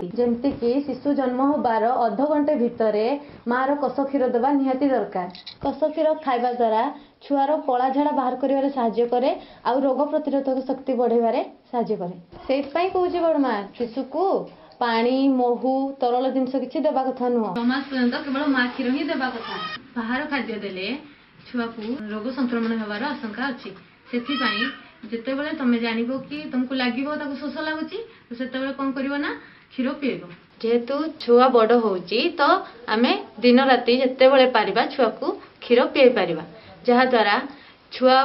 ନିହାତି। ଯେମିତିକି ଶିଶୁ ଜନ୍ମ ହେବାର ଅଧଘଣ୍ଟେ ଭିତରେ ମାଆର କଷ କ୍ଷୀର ଦେବା ନିହାତି ଦରକାର। କଷ କ୍ଷୀର ଖାଇବା ଦ୍ୱାରା ଛୁଆର କଳା ଝାଡ଼ା ବାହାର କରିବାରେ ସାହାଯ୍ୟ କରେ ଆଉ ରୋଗ ପ୍ରତିରୋଧକ ଶକ୍ତି ବଢ଼େଇବାରେ ସାହାଯ୍ୟ କରେ। ସେଇଥିପାଇଁ କହୁଛି ବଡ଼ମା, ଶିଶୁକୁ ପାଣି, ମହୁ, ତରଳ ଜିନିଷ କିଛି ଦେବା କଥା ନୁହଁ। 6 ମାସ ପର୍ଯ୍ୟନ୍ତ କେବଳ ମା କ୍ଷୀର ହିଁ ଦେବା କଥା। ବାହାର ଖାଦ୍ୟ ଦେଲେ ଛୁଆକୁ ରୋଗ ସଂକ୍ରମଣ ହେବାର ଆଶଙ୍କା ଅଛି। ସେଥିପାଇଁ ଯେତେବେଳେ ତମେ ଜାଣିବ କି ତମକୁ ଲାଗିବ ତାକୁ ଶୋଷ ଲାଗୁଛି, ତ ସେତେବେଳେ କ'ଣ କରିବ ନା କ୍ଷୀର ପିଏଇବ। ଯେହେତୁ ଛୁଆ ବଡ଼ ହେଉଛି, ତ ଆମେ ଦିନ ରାତି ଯେତେବେଳେ ପାରିବା ଛୁଆକୁ କ୍ଷୀର ପିଏଇ ପାରିବା, ଯାହାଦ୍ୱାରା ଛୁଆ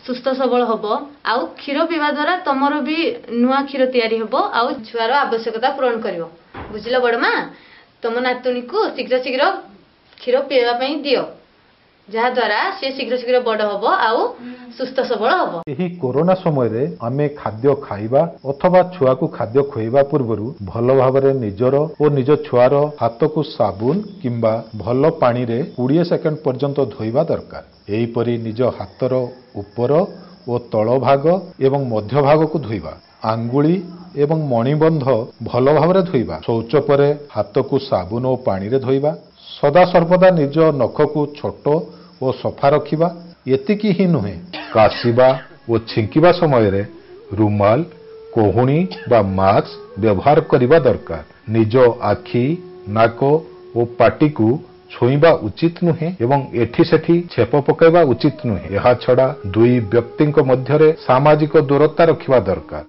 ସୁସ୍ଥ ସବଳ ହବ। ଆଉ କ୍ଷୀର ପିଇବା ଦ୍ୱାରା ତମର ବି ନୂଆ କ୍ଷୀର ତିଆରି ହେବ ଆଉ ଛୁଆର ଆବଶ୍ୟକତା ପୂରଣ କରିବ। ବୁଝିଲ ବଡ଼ ମା? ତମ ନାତୁଣୀକୁ ଶୀଘ୍ର ଶୀଘ୍ର କ୍ଷୀର ପିଇବା ପାଇଁ ଦିଅ, ଯାହାଦ୍ୱାରା ସିଏ ଶୀଘ୍ର ଶୀଘ୍ର ବଡ଼ ହବ ଆଉ ସୁସ୍ଥ ସବଳ ହବ। ଏହି କୋରୋନା ସମୟରେ ଆମେ ଖାଦ୍ୟ ଖାଇବା ଅଥବା ଛୁଆକୁ ଖାଦ୍ୟ ଖୁଆଇବା ପୂର୍ବରୁ ଭଲ ଭାବରେ ନିଜର ଓ ନିଜ ଛୁଆର ହାତକୁ ସାବୁନ କିମ୍ବା ଭଲ ପାଣିରେ 20 ସେକେଣ୍ଡ ପର୍ଯ୍ୟନ୍ତ ଧୋଇବା ଦରକାର। ଏହିପରି ନିଜ ହାତର ଉପର ଓ ତଳ ଭାଗ ଏବଂ ମଧ୍ୟ ଭାଗକୁ ଧୋଇବା। ଆଙ୍ଗୁଳି ଏବଂ ମଣିବନ୍ଧ ଭଲ ଭାବରେ ଧୋଇବା। ଶୌଚ ପରେ ହାତକୁ ସାବୁନ ଓ ପାଣିରେ ଧୋଇବା। ସଦାସର୍ବଦା ନିଜ ନଖକୁ ଛୋଟ ଓ ସଫା ରଖିବା। ଏତିକି ହିଁ ନୁହେଁ, କାଶିବା ଓ ଛିଙ୍କିବା ସମୟରେ ରୁମାଲ, କହୁଣୀ ବା ମାସ୍କ ବ୍ୟବହାର କରିବା ଦରକାର। ନିଜ ଆଖି, ନାକ ଓ ପାଟିକୁ ଛୁଇଁବା ଉଚିତ ନୁହେଁ ଏବଂ ଏଠି ସେଠି ଛେପ ପକାଇବା ଉଚିତ ନୁହେଁ। ଏହାଛଡ଼ା ଦୁଇ ବ୍ୟକ୍ତିଙ୍କ ମଧ୍ୟରେ ସାମାଜିକ ଦୂରତା ରଖିବା ଦରକାର।